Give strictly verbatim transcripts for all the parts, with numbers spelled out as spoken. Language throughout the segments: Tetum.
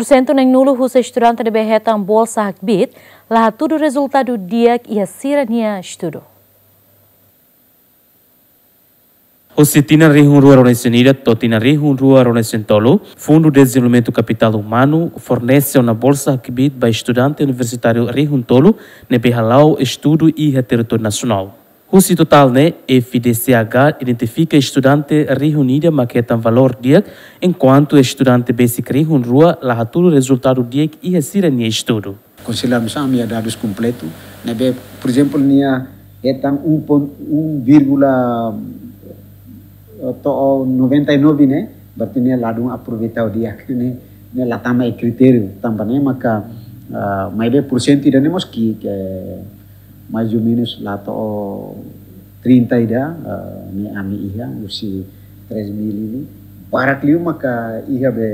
Pursentu neen-nulu husi estudante ne'ebé hetan bolsa hakbiit la hatudu rezultadu di'ak iha sira-nia estudu. Husi tinan rihun rua ruanulu-resin-ida to'o tinan rihun rua ruanulu-resin-tolu, Fundu Dezenvolvimentu Kapitál Umanu fornese ona bolsa hakbiit ba estudante universitáriu rihun tolu ne'ebé hala'o estudu iha territóriu nasionál. Husi totál ne'e, F D C H identifika estudante rihun ida mak hetan valór di'ak, enkuantu estudante besik rihun rua la hatudu rezultadu di'ak iha sira-nia estudu. Konsellu ami-nia dadus kompletu, ne'ebé, por ezemplu, nia hetan um ponto, um vírgula, eh, to'o noventa e nove ne'e, berarti nia ladún aproveita di'ak ne'e, nia la tama iha kritériu, tanba ne'e maka, ah, maibé pursentu ida-ne'e mós ki'ik, mais ou menus la to'o trinta ida, ah, ne'e ami iha, husi três mil ne'e. Barak liu maka iha be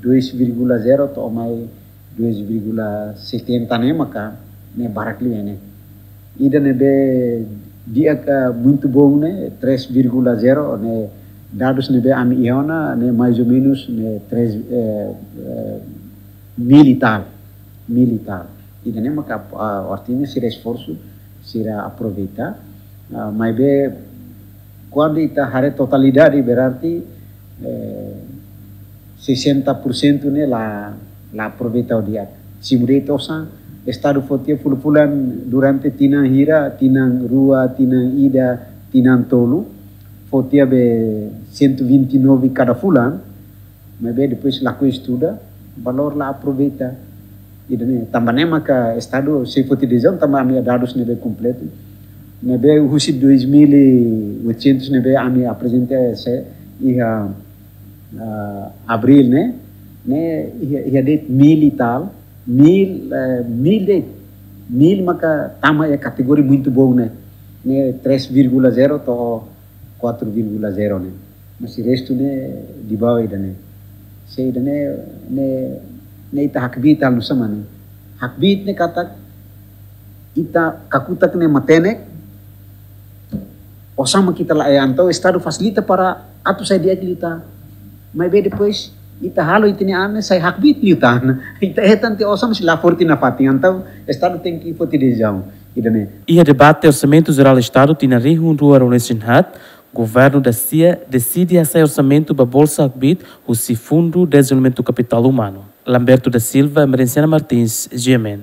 dois vírgula zero to'o mai dois vírgula setenta ne'e maka ne'e barak liu ne'e. Ida ne'ebé di'ak, ah, muito bom ne'e, três vírgula zero ne'e, dadus ne'ebé ami iha ona ne'e mais ou menus ne'e três, eh, eh, mil e tal, mil e tal. Ida-ne'e maka, ah, artinya sira esforsu, sira aproveita, ah, maibé kuandu ita haree totalidade berarti, eh, sessenta por cento ne'e la, la aproveita di'ak. Simu de'it osan, Estadu fó tiha fulan-fulan durante tinan hira, tinan rua, tinan ida, tinan tolu, fó tiha be cento e vinte e nove kada fulan, maibé depois lakohi estuda, valór la aproveita. Ida-ne'e, tanba ne'e maka Estadu sei foti desizaun, tanba ami dadus ne'ebé kompletu. Ne'ebé husi dois mil e oitocentos ne'ebé ami aprezenta se iha, ah, abríl ne'e, ne'e iha, iha de'it mil e tal, mil, eh, mil de'it, mil maka tama iha kategoria muito bom ne'e, ne'e três vírgula zero to'o quatro vírgula zero ne'e. Mas restu ne'e di bawah ida-ne'e. Se ida-ne'e, ne'e, ne'e ita hakbiit halo nu'usá mak ne'e. Hakbiit ne'e katak ita kakutak ne'e matenek, osan mak ita laiha, entaun Estadu fasilita para atu sai di'ak liután. Maibé depois ita halo ita-nia an ne'e sai hakbiit liután. Ita hetan tiha osan mas la forte nafatin, entaun Estadu tenke foti desizaun. Ida-ne'e. Iha debate Orsamentu Jerál Estadu tinan rihun rua ruanulu-resin-haat, Governu da-sia deside hasa'e orsamentu ba bolsa hakbiit husi Fundu Dezenvolvimentu Kapitál Umanu. Lamberto da Silva, Merenciana Martins, G M N.